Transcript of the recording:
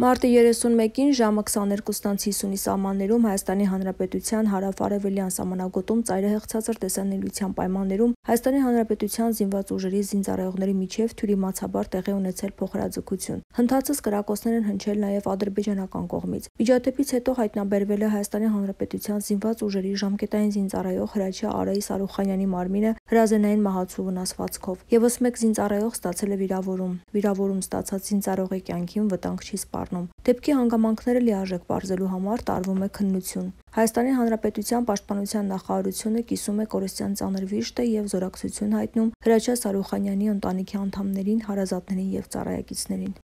Մարտի 31-ին ժամը 22:50-ի սահմաններում Հայաստանի Հանրապետության հարավ-արևելյան սահմանագոտում ծայրահեղ ցածր տեսանելիության պայմաններում Հայաստանի Հանրապետության զինված ուժերի զինծառայողների միջև թյուրիմացաբար տեղի ունեցել փոխհրաձգություն։ Հնդածս կրակոցներ են հնչել նաև ադրբեջանական կողմից։ Միջադեպից հետո հայտնաբերվել է Հայաստանի Հանրապետության զինված ուժերի ժամկետային զինծառայող Հրաչյա Արայ Սարուխանյանի մարմինը հրազենային մահացու վնասվածքով։ Եվս մեկ զինծառայող ստացել է վիրավորում։ Վիրավորում ստացած զինծառայողի կյանքին վտանգ չի սպառնում։ Դեպքի հանգամանքները լիարժեք պարզելու համար տարվում է քննություն։ Հայաստանի Հանրապետության պաշտպանության նախարարությունը կիսում է կորստյան ծանր վիշտը և զորակցություն հայտնում Հրաչյա Սարուխանյանի ընտանիքի անդամներին, հարազատներին և ծառայակիցներին։